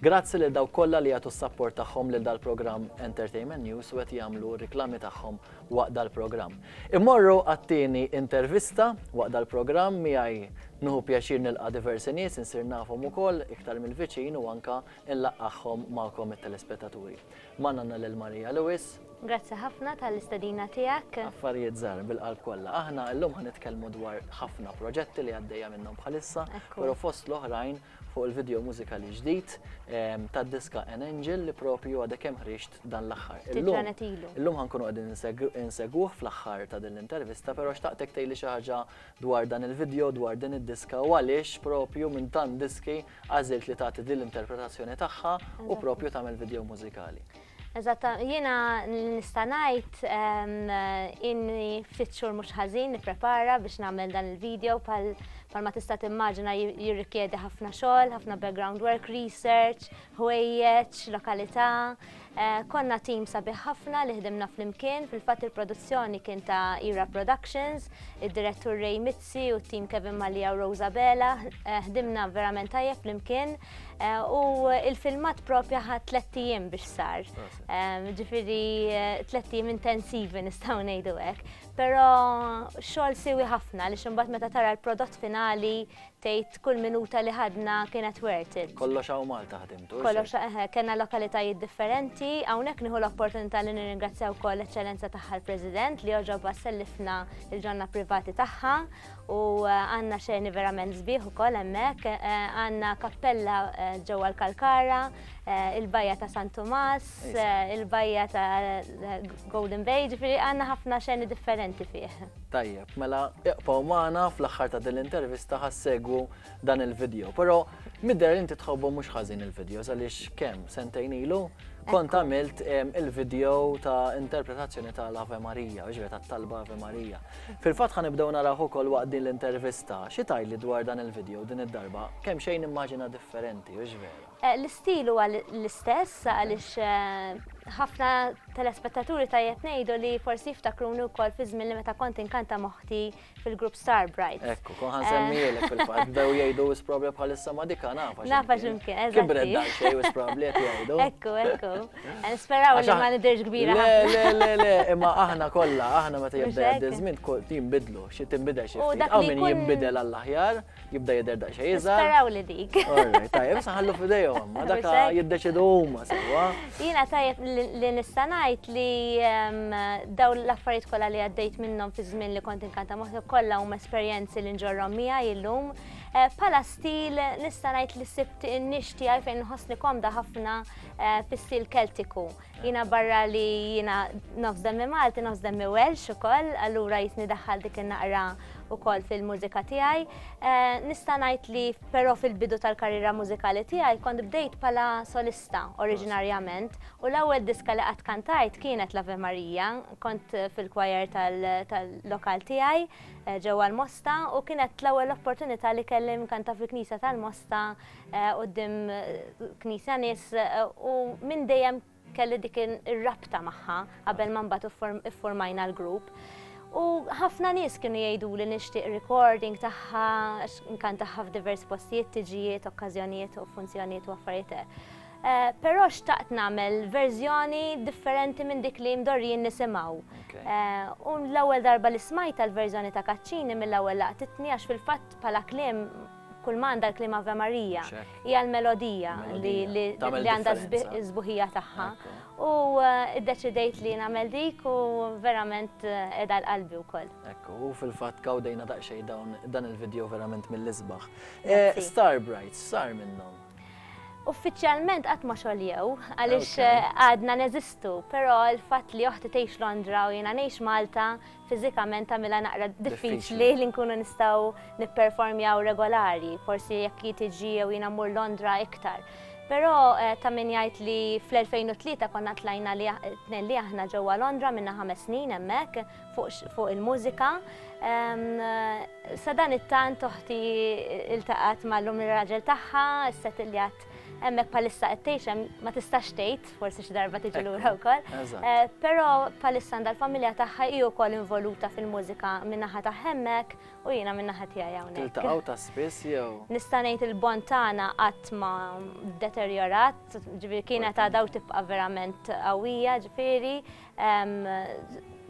Grazzi lil dawk kollha li jagħtu s-sapport tagħhom lil dal-programm Entertainment News u qed jagħmlu r-riklami tagħhom waqt dal-programm. Immorru għat-tieni intervista waqt dal-programm miegħi nieħu pjaċir nilqa' diversi nies insir nafhom ukoll iktar mill-viċin u anka nlaqqagħhom magħkom it-telespettaturi. Magħna għandna lil Maria Lewis. Grazzi ħafna tal-istedina tiegħek. Affarijiet żgħar bil-qalb kollha. Aħna llum ħa nitkellmu dwar ħafna proġetti li għaddejja minnhom bħalissa, però fost l-oħrajn fuq il-video mużikali ġdid tad-diska An Angel li propju għadek kemm ħriġt dan l-aħħar. Illum ħa nkunu qegħdin insegwuh fl-aħħar ta' din l-intervista, però xtaqtek tgħidli xi ħaġa dwar dan il-video, dwar din id-diska u għaliex propju minn tant diski għażilt li tagħti din l-interpretazzjoni tagħha u propju tagħmel video mużikali. Eżatt, jiena nista' ngħid inni ftit xhur mhux ħażin nipprepara biex nagħmel dan il-video bħal ma tista' timmaġina jirrikjedi ħafna xogħol, ħafna background work, research, ħwejjeġ, lokalità. Eh, konna tim sabiħ ħafna li ħdimna flimkien, fil-fatt il-produzzjoni kien ta' Ira Productions, id-direttur Ray Mizzi u t-tim Kevin Mallia u Rosa Bela, eh, ħdimna verament tajjeb flimkien. Eh, u il-filmat propja ħa tlett ijiem biex sar. Eh, ġifieri eh, tlett ijiem intensivi nistgħu ngħidu hekk. Però xogħol siwi ħafna li imbagħad meta tara l-prodott finali tgħid kull minuta li ħadna kienet worth it. Kollox hawn Malta ħdimtu. Kollox eħe, kellna lokalitajiet differenti, hawnhekk nieħu l-opportunità li nirringrazzja wkoll l-Eċċellenza tagħha l-President li għoġobha sellifna il-ġonna privati tagħha U għandna xeni verament sbieħ ukoll hemmhekk. Għandna kappella ġewwa l-Kalkara, il-bajja ta' San Tumas, il-bajja ta' Golden Bay, ġifieri għandna ħafna xeni differenti fih. Tajjeb, mela iqbgħu magħna fl-aħħar ta' din l-intervista ħa ssegwu dan il-video. Però midher li inti tħobbhom mhux ħażin il-videos għaliex kemm sentejn ilu kont għamilt il-video ta' interpretazzjoni tal-Ave Maria, ġifieri tat-talba Ave Maria. Fil-fatt ħa nibdew narawh ukoll waqt din l-intervista. Xi tgħidli dwar dan il-video din id-darba? Kemm xejn immaġina differenti, hux vera? L-istil huwa l-istess għaliex ħafna telespettaturi tajjeb ngħidu li forsi jiftakruni wkoll fi żmien li meta kont inkanta m'oħti fil-grupp Star Brights. Ekku, kon ħa nsemmielek fil-fatt, bdew jgħidu wis probabbli bħalissa ma dika nafa. Nafa x'imkien, eżatt. Kibret daqsxejn wis probabbli qed jgħidu. Ekku, ekku. Nisperaw li ma nidhirx kbira. Le, le, le, le, imma aħna kollha, aħna meta jibda jgħaddi żmien jinbidlu, xi tinbidel xi ftit. Hawn min jinbidel għall-aħjar, jibda jidher daqsxejn iżgħar. Nisperaw li dik. Alright, tajjeb, issa ħallu f'idejhom, ma dak jiddeċidu huma sewwa. Jiena tajjeb li nista' ngħid li dawn l-affarijiet kollha li għaddejt minnhom fi żmien li kont inkanta moħħi kollha huma esperjenzi li nġorrhom miegħi illum. Eh, bħala stil nista' ngħid li sibt in-nix tiegħi fejn nħossni komda ħafna Eh, fis-stil Keltiku. Jiena barra li jiena nofs demmi Malti, nofs demmi Welsh ukoll, allura jisni daħħal dik in-naqra ukoll fil-mużika tiegħi. Eh, nista' ngħid li però fil-bidu tal-karriera mużikali tiegħi kont bdejt bħala solista oriġinarjament u l-ewwel diska li qatt kantajt kienet l-Ave Maria, kont fil-choir tal-lokal tiegħi eh, ġewwa l-Mosta u kienet l-ewwel opportunità li kelli nkanta fil-Knisja tal-Mosta quddiem knisja nies u minn dejjem kelli dik ir-rabta magħha qabel ma mbagħad iffurmajna l-grupp. U ħafna nies kienu jgħidu li nixtieq recording tagħha, nkantaha f'diversi postijiet, tiġijiet, okkażjonijiet u funzjonijiet u affarijiet. Eh, però xtaqt nagħmel verżjoni differenti minn dik li mdorrijin nisimgħu. Eh, u l-ewwel darba li smajta l-verżjoni ta' Kaċċini mill-ewwel laqtitni għax fil-fatt bħala kliem Kull ma għandha l-kliem Ave Maria hija l-melodija li għandha s-sbuħija tagħha. U eh, iddeċidejt li nagħmel dik u verament eh, qiegħda l-qalbi wkoll. Ekku, u fil-fatt gawdejna daqsxejn dawn dan il-video verament mill-isbaħ. Eh, Star Brights, sar minnhom. Uffiċjalment qatt ma xoljew għaliex għadna neżistu, però l-fatt li oħti tgħix Londra u jiena ngħix Malta fiżikament tagħmilha naqra diffiċli li nkunu nistgħu nipperformjaw regolari, forsi jekk hi tiġi jew jiena mmur Londra iktar. Però eh, ta' min jgħid li fl-2003 konna tlajna li tnejn li aħna ġewwa Londra minna ħames snin hemmhekk fuq il-mużika. Sa dan it-tant oħti iltaqgħet mal-lum ir-raġel tagħha, issettiljat. Hemmhekk bħalissa qed tgħix hemm ma tistax tgħid, forsi xi darba tiġi lura wkoll. Eh, però bħalissa għandha l-familja tagħha hi wkoll involuta fil-mużika min-naħa ta' hemmhekk u jiena min-naħa tiegħi hawnhekk. Tiltaqgħu ta' spiss jew? Nista' ngħid il-bond tagħna qatt ma deterjorat, ġifieri kienet għadha u tibqa' verament qawwija, ġifieri.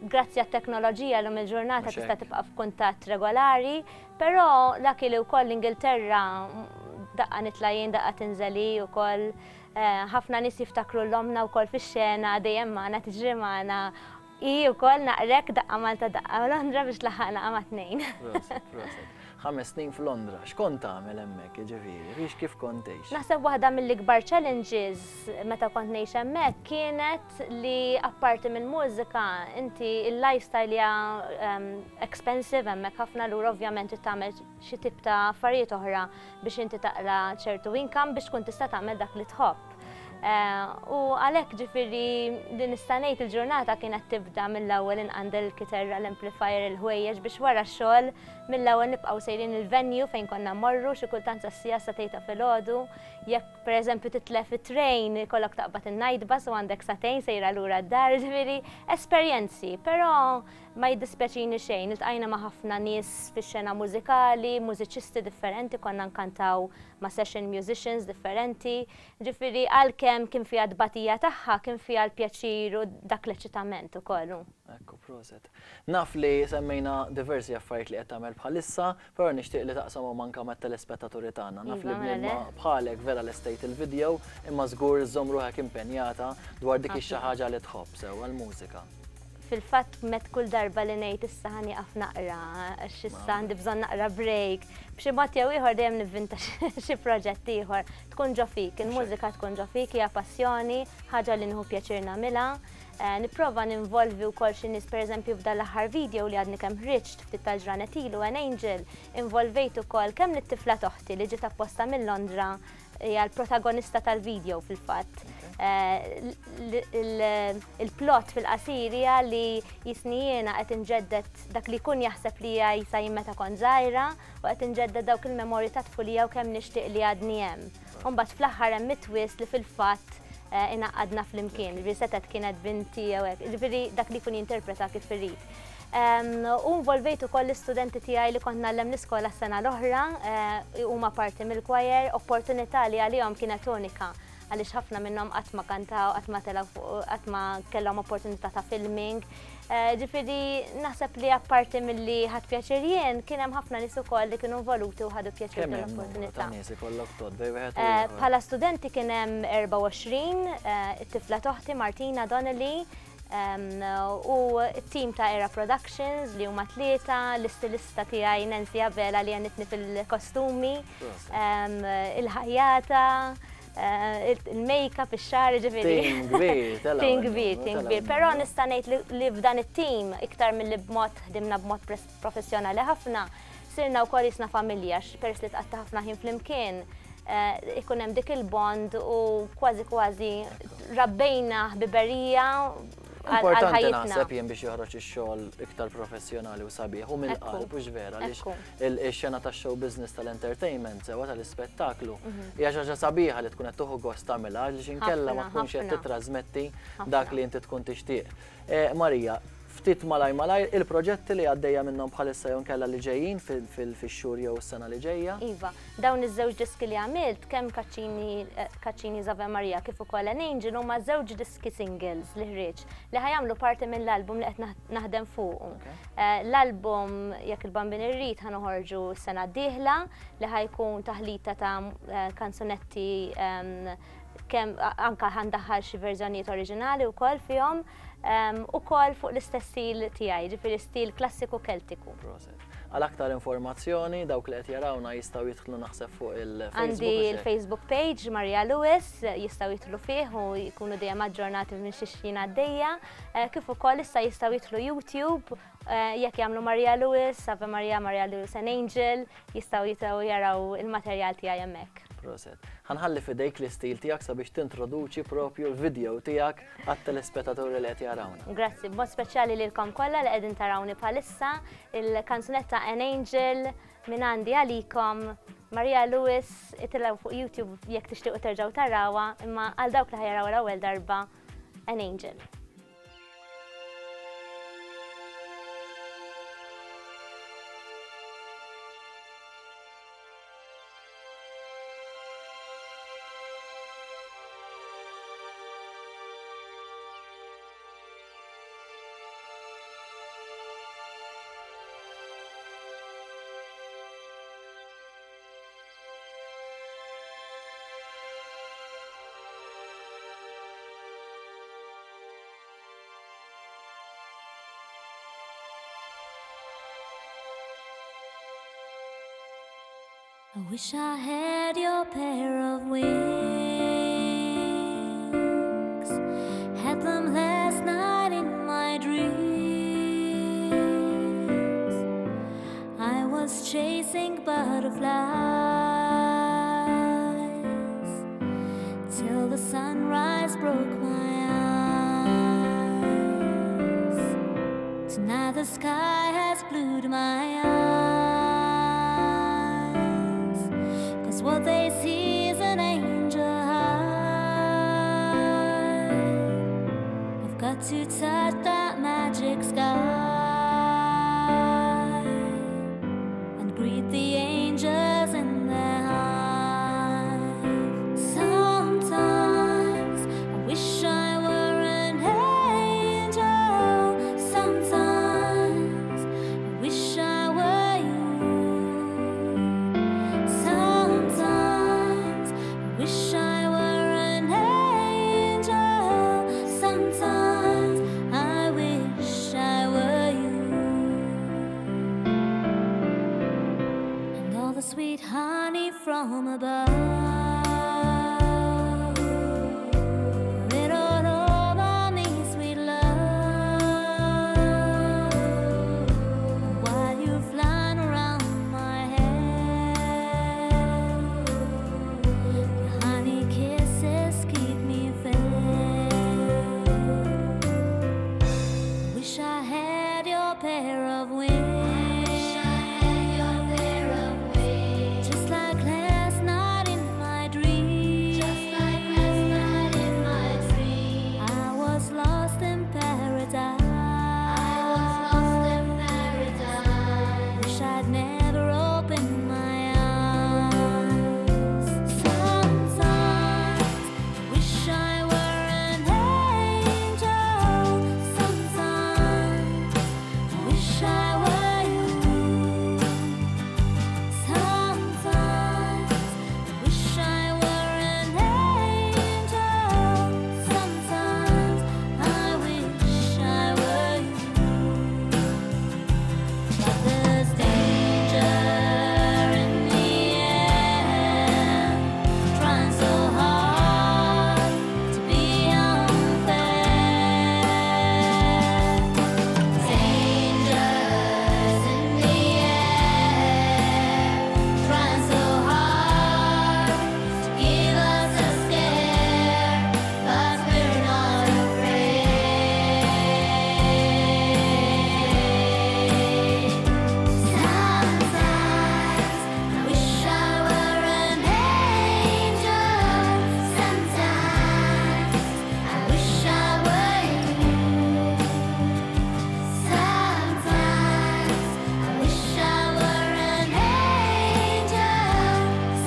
Grazzi għat-teknoloġija llum il-ġurnata tista' tibqa' f'kuntatt regolari, però lucky li wkoll l-Ingilterra daqqa nitla' jien daqqa tinżel hi wkoll. Eh, ħafna nies jiftakru l-omna wkoll fix-xena dejjem magħna tiġri magħna. Hi wkoll naqrek daqqa Malta daqqa Londra biex laħaqna ma' tnejn. Proset, proset. Ħames snin f'Londra, x'kont tagħmel hemmhekk, jiġifieri, fiex kif kont tgħix? Naħseb waħda mill-ikbar challenges meta kont ngħix hemmhekk kienet li apparti minn mużika inti il-lifestyle hija ehm, expensive hemmhekk ħafna lura ovvjament trid tagħmel xi tip ta' affarijiet oħra biex inti taqla ċertu income biex tkun tista' tagħmel dak li tħobb. Eh, u għalhekk ġifieri li nista' ngħid il-ġurnata kienet tibda mill-ewwel inqandel il-kiterra, l-amplifier, il-ħwejjeġ biex wara x-xogħol mill-ewwel nibqgħu sejrin il-venue fejn konna mmorru xi kultant sas-siegħa sa tgħid ta' filgħodu. Jekk pereżempju titlef it-train ikollok taqbad in-night bus u għandek sagħtejn sejra lura d-dar, ġifieri esperjenzi, però ma jiddispjaċini xejn, iltqajna ma' ħafna nies fix-xena mużikali, mużiċisti differenti, konna nkantaw ma' session musicians differenti. Ġifieri għalkemm kien fiha t-tbatija tagħha, kien fiha l-pjaċir u dak l-eċitament ukoll. Ekku, proset. Naf li semmejna diversi affarijiet li qed tagħmel bħalissa, però nixtieq li taqsamhom anke mat-telespettaturi tagħna. Naf li bniedma bħalek vera lestejt il-video, imma żgur żżomm ruħek impenjata dwar dik ix-xi ħaġa li tħobb sewwa l-mużika. Fil-fatt met kull darba li ngħid issa ħa nieqaf naqra, għax issa għandi bżonn naqra break. B'xi mod jew ieħor dejjem nivvinta xi proġett ieħor. Tkun ġo fik, il-mużika tkun ġo fik, hija passjoni, ħaġa li nieħu pjaċir nagħmilha. Eh, nipprova ninvolvi wkoll xi nies pereżempju f'dan l-aħħar video li għadni kemm ħriġt ftit tal-ġranet ilu An Angel, involvejt ukoll kemm lit-tifla t'oħti li ġiet apposta minn Londra hija l-protagonista tal-video fil-fatt. Eh, il-plot fil-qasir hija li jisni jiena qed inġeddet dak li jkun jaħseb li hija jisa jien meta kont żgħira u qed inġeddet dawk il-memorji ta' tfulija u kemm nixtieq li għadni hemm. U mbagħad fl-aħħar hemm it-twist li fil-fatt eh, ingħaqadna flimkien, ġifieri setgħet kienet binti jew hekk, ġifieri dak li jkun jinterpreta kif irid. U involvejt ukoll l-istudenti tiegħi li kont ngħallem l-iskola s-sena l-oħra, eh, huma parti mill-choir, opportunità li għalihom kienet unika għaliex ħafna minnhom qatt ma kantaw, qatt ma telgħu qatt ma kellhom opportunità ta' filming. Eh, ġifieri naħseb li apparti milli ħadd pjaċir jien, kien hemm ħafna nies ukoll li kienu involuti u ħadu pjaċir tal-opportunità. Eh, bħala studenti kien hemm 24, it-tifla toħti Martina Donnelly, U t-tim ta' Era Productions li huma tlieta, l-istilista tiegħi Nancy Abela li għenitni fil-kostumi, il-ħajjata, eh, il-make-up, ix-xagħar, ġifieri. Tim kbir, Tim kbir, tim kbir. Però nista' ngħid li f'dan it-tim iktar milli b'mod ħdimna b'mod professjonali ħafna, sirna wkoll jisna familja, peress li tqatta' ħafna ħin flimkien, eh, ikun hemm dik il-bond u kważi kważi rabbejna ħbiberija Importanti naħseb jien biex joħroġ ix-xogħol iktar professjonali u sabiħ u mill-qalb hux vera li x-xena tax-show business tal-entertainment sewa tal-ispettaklu mhm. hija xi ħaġa sabiħa li tkun qed tieħu gost tagħmilha għaliex inkella ma tkunx qed titrasmetti dak li inti tkun tixtieq. Eh, Marija, ftit malajr malajr, il-proġetti li għaddejja minnhom bħalissa jew inkella li ġejjin fix-xhur jew is-sena li ġejja? Iva, dawn iż-żewġ diski li għamilt, kemm Caccini's Ave Maria kif ukoll An Angel huma żewġ diski singles li ħriġt li ħa jagħmlu parti mill-album li qed naħdem fuqu. L-album jekk il-Bambin irrid ħa noħorġu s-sena d-dieħla li ħa jkun taħlita ta' kanzunetti kemm anka ħa ndaħħal xi verżjonijiet oriġinali wkoll fihom. Ukoll fuq l-istess stil tiegħi, ġifieri stil klassiku Keltiku. Proset. Għal aktar informazzjoni, dawk li qed jarawna jistgħu jidħlu naħseb fuq il-Facebook. Għandi il-Facebook page Maria Lewis, jistgħu jidħlu fih u jkunu dejjem aġġornati minn xiex jien għaddejja. Eh, kif ukoll issa jistgħu jidħlu YouTube eh, jekk jagħmlu Maria Lewis, Ave Maria, Maria Lewis and Angel, jistgħu jitgħu jaraw il-materjal tiegħi hemmhekk. Proset. Ħanħalli fidejk l-istil tiegħek sabiex tintroduċi propju l-video tiegħek għat-telespetaturi li qed jarawna. Grazzi, b'mod speċjali lilkom kollha li qegħdin tarawni bħalissa, il-kanzunetta An Angel minn għandi għalikom Maria Lewis, itilgħu fuq YouTube jekk tixtiequ terġgħu tarawha, imma għal dawk li ħa jarawha l-ewwel darba, An Angel. I wish I had your pair of wings. Had them last night in my dreams. I was chasing butterflies till the sunrise broke my eyes. Tonight the sky has blued my eyes, 'cause what they see is an angel high. I've got to touch that magic sky and greet the angels in their hive. Sometimes I wish I were an angel. Sometimes I wish I were you. Sometimes I wish I were an angel. Sometimes I wish I were you. And all the sweet honey from above, pour it all over me, sweet love. While you're flying around my head, your honey kisses keep me fed. Wish I had your pair of wings. Just like last night in my dream. Just like last night in my dream. I was lost in paradise. I was lost in paradise. Wish I'd never opened my eyes. Sometimes I wish I were an angel. Sometimes I wish I were you. Sometimes I wish I were an angel. Sometimes I wish I were you. But there's danger in the air, trying so hard to be unfair. Dangers in the air, trying so hard to give us a scare, but we're not afraid. Sometimes I wish I were an angel. Sometimes I wish I were you. Sometimes I wish I were an angel.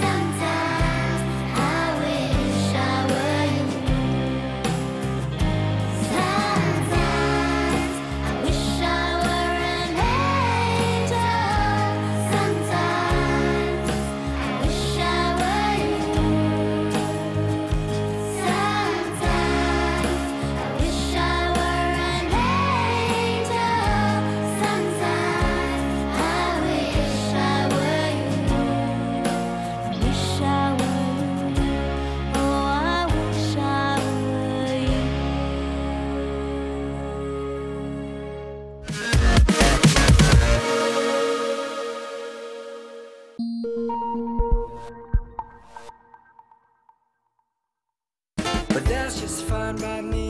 Sometimes I wish I were you. Sometimes I wish I were an angel. Sometimes I wish I were you. Sometimes I wish I were an angel. Sometimes I wish I were you. I wish I were you. Oh, I wish I were you. But that's just fine by me.